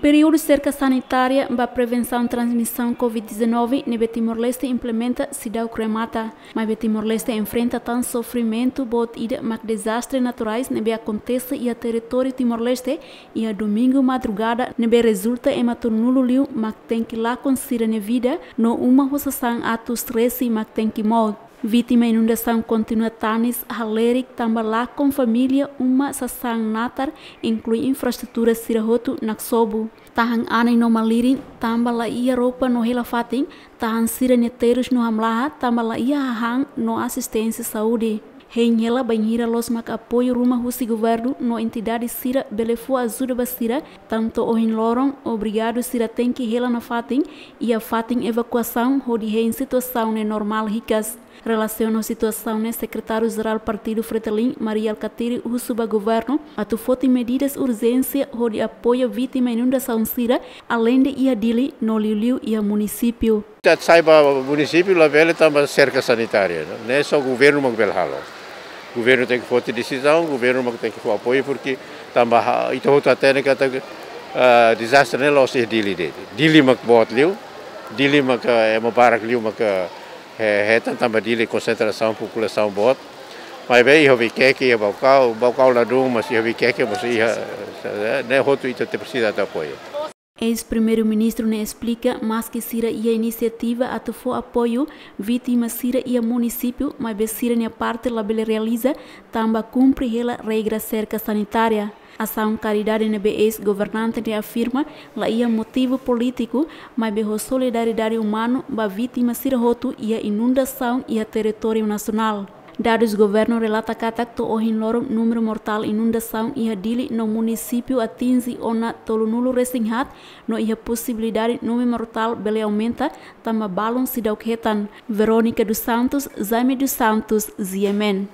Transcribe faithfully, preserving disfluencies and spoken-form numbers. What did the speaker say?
Períodu serka sanitária ba prevensaun transmisaun covid dezanove ne'ebé Timor-Leste implementa seidauk remata, maibé Timor-Leste enfrenta tan sofrimentu boot ida mak dezastre naturais ne'ebé akontese iha territóriu Timor-Leste iha domingu madrugada, ne'ebé rezulta ema tolunulu liu mak tenke lakon sira-nia vida no uma ho sasán atus resin mak tenke mout. Vítima inundasaun kontinua tanis halerik tanba lakon família, uma, sasán natar, inklui infraestrutura sira hotu naksobu. Tahan anin no malirin tanba la iha roupa no hela-fatin, tahan sira-nia terus no hamlaha tanba la iha hahán no asisténsia saúde. Hein hela bainhira loos mak apoiu ruma husi governu no entidade sira bele fó ajuda ba sira, tantu ohin loron obrigadu sira tenke hela nafatin iha fatin evakuasaun hodi hein situasaun ne'e normál hikas. Relasiona situasaun ne'e, Sekretáriu Jerál Partidu Fretilin, Mari Alkatiri, husu ba governu atu foti medidas urjénsia hodi apoia vítima inundasaun sira, aleinde iha Dili no liuliu iha munisípiu. Ita sai ba munisípiu labele tanba serka sanitária, ne'e só governu mak bele halo. Governu tenke foti desizaun, governu mak tenke fó apoiu, porque tanba ha-, ita hotu hatene katak, ah, dezastre ne'e la'ós iha Dili de'it. Dili mak boot liu, Dili mak, ah, ema barak liu mak, ah, he-, hetan tanba Dili konsentrasaun populasaun boot. Maibé iha Vikeke, iha Baucau, Baucau ladún, mas iha Vikeke, mas iha, eh, ne'e hotu ita tenke presiza atu apoiu. Eis-Primeiru-Ministru ne'e esplika, maski sira iha inisiativa atu fó apoiu vítima sira iha munisípiu, maibé sira-nia parte labele realiza tanba kumpre hela regra serka sanitária. Asaun karidade ne'ebé eis-governante ne'e afirma la iha motivu polítiku, maibé ho solidariedade umanu ba vítima sira hotu iha inundasaun iha territóriu nasionál. Dadus governu relata katak to'o ohin loron númeru mortál inundasaun iha Dili no munisípiu atinje ona tolunulu resin haat, no iha posibilidade númeru mortál bele aumenta, tanba balun seidauk hetan. Verónica dos Santos, Jaime dos Santos, G M N.